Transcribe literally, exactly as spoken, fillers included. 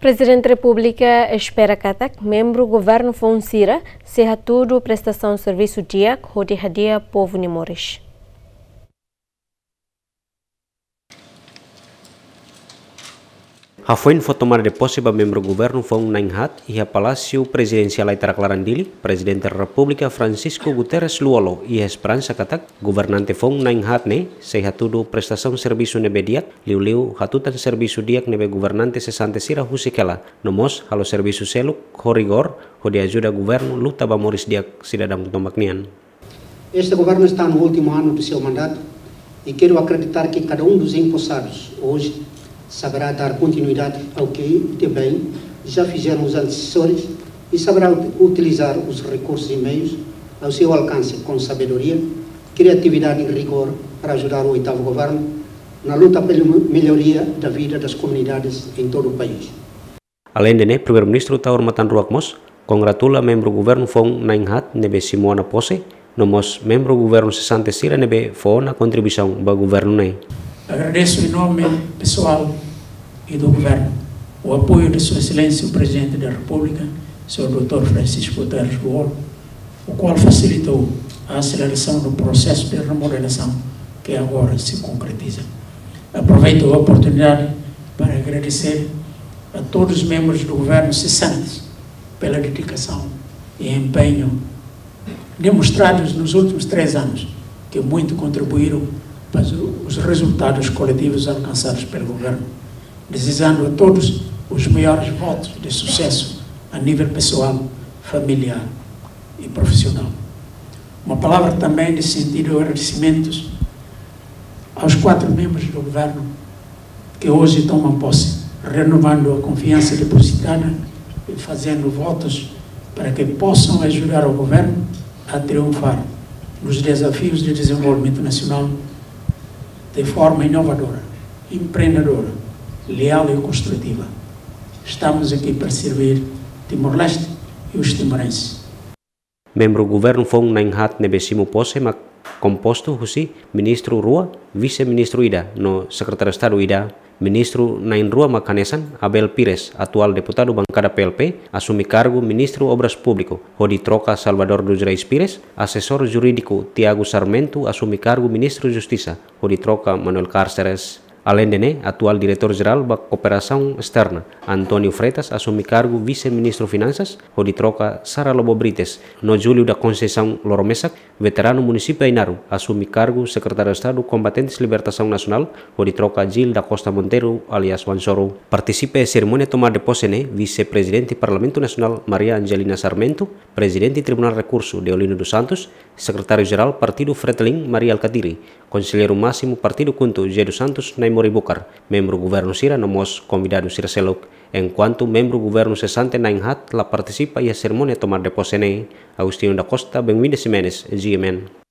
Prezidente Repúblika espera katak membru governu foun sira sei hatudu prestasaun servisu di'ak hodi hadi'a povu nia moris. Hafoin fó tomada de pose ba membru governu foun na'in-haat iha Palásiu Prezidensiál Aitarak Laran Dili, Prezidente Repúblika Francisco Guterres Lú-Olo iha esperansa katak governante foun na'in-haat ne'e sei hatudu prestasaun servisu ne'ebé di'ak, liuliu hatutan servisu di'ak ne'ebé governante sesante sira husik hela, no mós halo servisu seluk ho rigór hodi ajuda governu luta ba moris di'ak sidadaun tomak nian. Este governo está no último ano do seu mandato e quero acreditar que cada um dos empossados hoje saberá dar continuidade ao que de bem já fizeram os antecessores e saberá ut-, utilizar os recursos e meios ao seu alcance com sabedoria, criatividade e rigor para ajudar o oitavo governo na luta pela melhoria da vida das comunidades em todo o país. Aleinde ne'e, Primeiru-Ministru Taur Matan Ruak mós kongratula membru governu foun na'in-haat ne'ebé simu ona pose, no mós membru governu sesante sira ne'ebé fó ona kontribuisaun ba governu ne'e. Agradeço em nome pessoal e do Governo o apoio de Sua Excelência o Presidente da República, senhor doutor Francisco Guterres Lú-Olo, o qual facilitou a aceleração do processo de remodelação que agora se concretiza. Aproveito a oportunidade para agradecer a todos os membros do governo cessantes pela dedicação e empenho demonstrados nos últimos três anos, que muito contribuíram para os, os resultados coletivos alcançados pelo governo, desejando a todos os maiores votos de sucesso a nível pessoal, familiar e profissional. Uma palavra também de sentido de agradecimentos aos quatro membros do governo que hoje tomam posse, renovando a confiança depositada e fazendo votos para que possam ajudar o governo a triunfar nos desafios de desenvolvimento nacional de forma inovadora, empreendedora, leal e construtiva. Estamos aqui para servir Timor-Leste e os timorenses. Membru governu foun na'in-haat ne'ebé simu pose mak kompostu husi ministru rua, vise-ministru ida, no sekretáriu Estadu ida. Ministru na'in-rua mak hanesan Abel Pires, atuál deputadu bankada P L P, asume kargu Ministru Obras Públiku, hodi troka Salvador dos Reis Pires, asesór jurídiku Tiago Sarmento asume kargu Ministru Justisa, hodi troka Manuel Cárceres. Aleinde ne'e, atuál Diretór Jerál ba Kooperasaun Esterna, António Freitas, asume kargu Vise-Ministru Finansas, hodi troka Sara Lobo Brites, no Júlio da Conceição Loromesak, veteranu munisípiu Ainaro, asume kargu Sekretáriu Estadu Kombatentes Libertasaun Nasionál, hodi troka Gil da Costa Monteiro, alias Wansoro. Partisipa iha serimónia tomada de pose ne'e, Vise-Prezidente Parlamentu Nasionál, Maria Angelina Sarmento, Prezidente Tribunál Rekursu, Deolino dos Santos, Sekretáriu Jerál Partidu Fretilin, Mari Alkatiri, Konselleiru Másimu Partidu KHUNTO, José dos Santos Naimori Bucar, membru governu sira no mós konvidadu sira seluk. Enkuantu membru governu sesante na'in-haat la partisipa iha serimónia tomada de pose ne'e. Agostinho da Costa, Benguinda Ximenes, G M N.